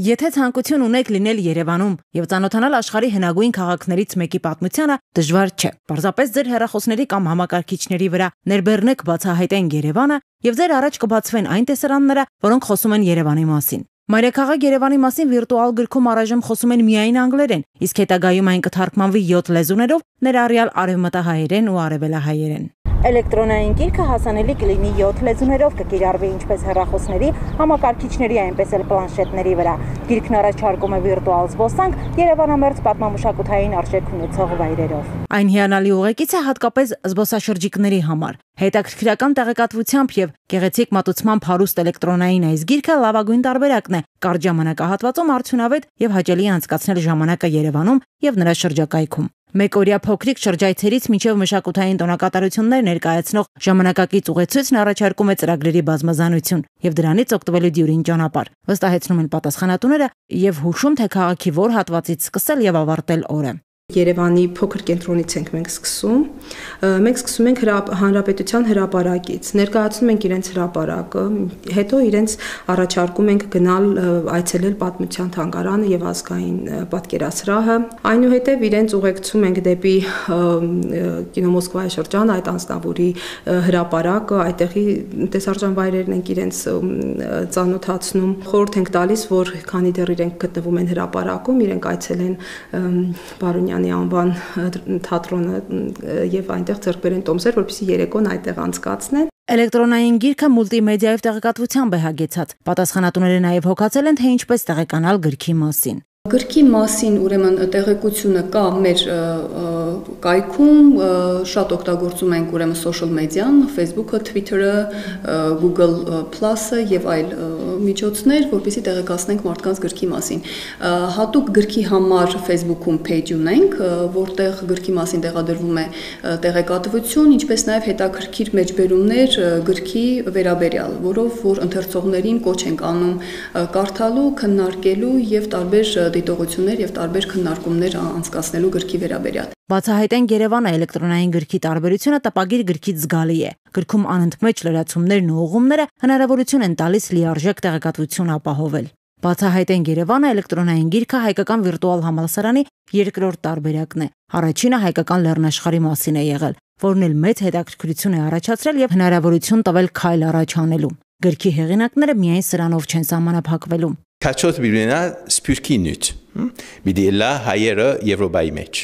Եթե ցանկություն ունեք լինել Երևանում եւ ծանոթանալ աշխարհի հնագույն քաղաքներից մեկի պատմությանը, դժվար չէ։ Պարզապես ձեր հեռախոսների կամ համակարգիչների վրա ներբեռնեք բացահայտեն Երևանը եւ ձեր առաջ կբացվեն այն տեսարանները, որոնք խոսում են Երևանի մասին։ Մայրաքաղաք Երևանի մասին վիրտուալ գրքում առայժմ խոսում են միայն անգլերեն, իսկ հետագայում այն կթարգմանվի 7 լեզուներով, ներառյալ արևմտահայերեն ու արևելահայերեն։ Էլեկտրոնային գիրքը հասանելի կլինի 7 լեզուներով, կկիրառվի ինչպես հեռախոսների, համակարգիչների, այնպես էլ պլանշետների վրա։ Գիրքն առաջարկում է վիրտուալ զբոսանք Երևանամերձ պատմամշակութային արժեք ունեցող վայրերով։ Այն հիանալի ուղեկից է հատկապես զբոսաշրջիկների համար։ Հետաքրքրական տեղեկատվությամբ եւ գեղեցիկ մատուցմամբ հարուստ էլեկտրոնային այս գիրքը լավագույն տարբերակն է կարճ ժամանակահատվածում արդյունավետ եւ հաճելի անցկացնել ժամանակը Երևանում եւ նրա շրջակայքում։ Մեկօրյա փոքրիկ շրջայցերից մինչև մշակութային տոնակատարություններ ներկայացնող ժամանակակից ուղեցույցն առաջարկում է ծրագրերի բազմազանություն եւ դրանից օգտվելու դյուրին ճանապարհ։ Վստահեցնում են պատասխանատուները եւ հուշում, թե քաղաքի որ հատվածից սկսել եւ ավարտել օրը։ Երևանի փոքր կենտրոնից ենք մենք սկսում։ Մենք սկսում ենք Հանրապետության հրապարակից, ներկայացնում ենք իրենց հրապարակը, հետո իրենց առաջարկում ենք գնալ այցելել պատմության թանգարանը եւ ազգային պատկերասրահը, այնուհետեւ իրենց ուղեկցում ենք դեպի կինո Մոսկվայի շրջան, այդ անձնավորի հրապարակը, այդտեղի տեսարժան վայրերն ենք իրենց ծանոթացնում, խորհուրդ ենք տալիս, որ քանի դեռ իրենք գտնվում են հրապարակում, իրենք այցելեն Բարոնյանի անվան թատրոնը եւ այնտեղ ձեռք բերեն տոմսեր, որպեսզի երեկոն այդտեղ անցկացնեն։ Էլեկտրոնային գիրքը մուլտիմեդիայով տեղեկատվությամբ է հագեցած։ Պատասխանատուները նաեւ հոգացել են, թե ինչպես տեղեկանալ գրքի մասին։ Գրքի մասին ուրեմն տեղեկությունը կա մեր կայքում, շատ օգտագործում ենք ուրեմն social media-ն, Facebook-ը, Twitter-ը, Google Plus-ը եւ այլ միջոցներ, որպեսզի տեղեկացնենք մարդկանց գրքի մասին։ Հատուկ գրքի համար Facebook-ում page ունենք, որտեղ գրքի մասին տեղադրվում է տեղեկատվություն, ինչպես նաեւ հետաքրքիր մեջբերումներ գրքի վերաբերյալ, որով որ ընթերցողներին կոչ ենք անում կարդալու, քննարկելու եւ տարբեր դիտողություններ եւ տարբեր քննարկումներ անցկացնելու գրքի վերաբերյալ։ Բացահայտեն Երևանը էլեկտրոնային գրքի տարբերությունը տպագիր գրքից զգալի է։ Գրքում անընդմեջ լրացումներն ու ուղղումները հնարավորություն են տալիս լիարժեք տեղեկատվություն ապահովել։ Բացահայտեն Երևանը էլեկտրոնային գիրքը հայկական վիրտուալ համալսարանի երկրորդ տարբերակն է։ Առաջինը հայկական լեռնաշխարհի մասին է եղել, որն էլ մեծ հետաքրքրություն է առաջացրել եւ հնարավորություն տվել քայլ առաջ անելու։ Գրքի հեղինակները միայն սրանով չեն սահմանափակվելու։ Քաչոտ Բիբլիա սփյուռքի նյութ։ Բիդիլա հայերը Եվրոպայի մեջ։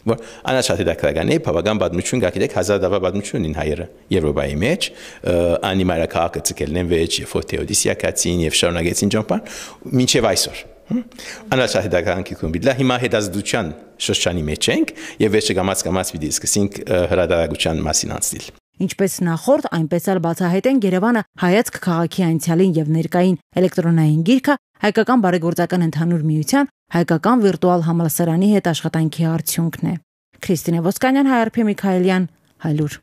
Որ անաչափ հետաքրքրական է, բավական պատմություն կա, գիտեք, 1000 տարվա պատմություն ունին հայերը Եվրոպայի մեջ, անի մայրաքաղաքը ցկելն են վեճ, եւ Թեոդիսիա կացին եւ շարունակեցին ճամփան, մինչեւ այսօր։ Անաչափ հետաքրքրական գիտում բիդլա հիմա հետազոտության շրջանի մեջ ենք եւ վերջը կամաց պիտի սկսենք հրադարագության մասին անցնել։ Ինչպես նախորդ, այնպես էլ բացահայտեն Երևանը հայացք քաղաքի անցյալին եւ ներկային էլեկտրոնային գիրքը հայկական բարեգործական ընդհանուր միության հայկական վիրտուալ համալսարանի հետ աշխատանքի արդյունքն է։ Քրիստինե Ոսկանյան, Հայարփի Միքայելյան, Հայլուր։